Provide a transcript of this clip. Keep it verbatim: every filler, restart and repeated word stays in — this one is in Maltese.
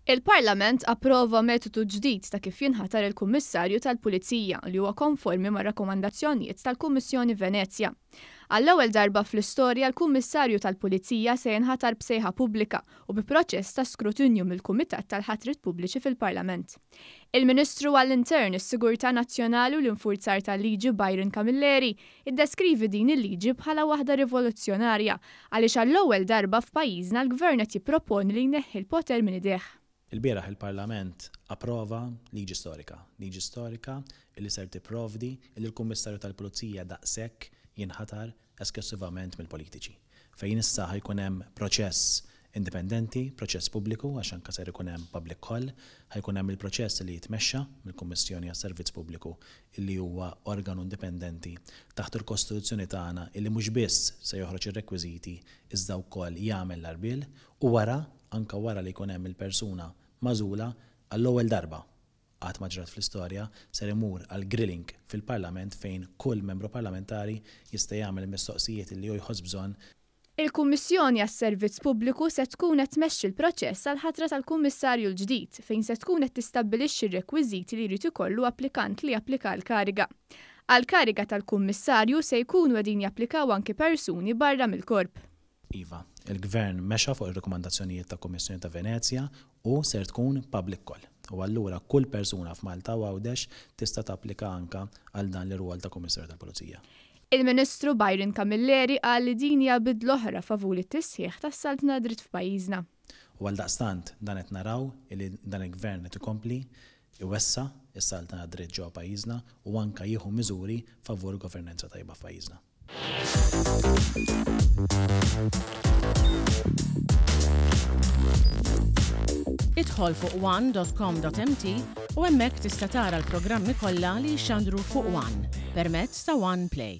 Il-Parlament approva metodu ġdid ta' kif jinħatar il-Kummissarju tal-Pulizija li huwa konformi ma' rakkomandazzjonijiet tal-Kummissjoni Venezja. Għall-ewwel darba fl-istorja, l-Kummissarju tal-Pulizija se jinħatar b'sejħa pubblika u bi proċess ta' skrutinju mill-Kumitat tal-Ħatrit Pubbliċi fil-Parlament. Il-Ministru għall-Intern, is-Sigurtà Nazzjonali u l-Infurzar tal-Liġi Byron Camilleri iddeskrivi din il-liġi bħala waħda rivoluzzjonarja għaliex għall-ewwel darba f'pajjiżna l-Gvern qed jipproponi li jneħħi l-poter minn idejh. Il-bieraħ il-Parlament approva liġi storika, liġi storika li ser tipprovdi li l-Kummissarju tal-Pulizija daqshekk jinħatar esklusivament mill-politiċi. Fejn issa ħa jkun hemm proċess indipendenti, proċess pubbliku, għax anke ser ikun hemm public call, ħa jkun hemm il-proċess li jitmexxa mill-Kummissjoni għas-Servizz Pubbliku, illi huwa organu indipendenti taħt il-Kostituzzjoni tagħna, illi mhux biss se joħroġ ir-rekwiżiti iżda wkoll jagħmel l-għarbiel, u wara, anka wara li jkun hemm il-persuna magħżula, għall-ewwel darba qatt ma ġrat fl-istorja, ser imur għal grilling fil-Parlament fejn kull membru parlamentari jista' jagħmel il-mistoqsijiet li hu jħoss bżonn. Il-Kummissjoni għas-Servizz Pubbliku se tkun qed tmexxi l-proċess għal ħatra tal-Kummissarju l-ġdid, fejn se tkun qed tistabbilixxi r-rekwiżiti li jrid ikollu applikant li japplika l-kariga. Għal-kariga tal-Kummissarju se jkunu qegħdin japplikaw anki persuni barra mill-korp. Iva, il-Gvern mexa fuq ir-rekomandazzjonijiet ta' Kummissjoni ta' Venezja u ser tkun public call. U allura kull persuna f'Malta u Għawdex tista' tapplika anka għal dan l-irwol ta' Kummissarju tal-Pulizija. Il-Ministru Byron Camilleri qal li din hija bidla oħra favur it-tisħiħ tas-saltna dritt f'pajjiżna. U għaldaqstant dan qed naraw li dan il-Gvern qed ikompli iwessa' s-saltna dritt ġewwa pajjiżna u anka jieħu miżuri favur governanza tajba f'pajjiżna. Idħol fuq one dot com dot M T u hemmhekk tista' tara l-programmi kollha li jxandru fuq One permezz ta' One Play.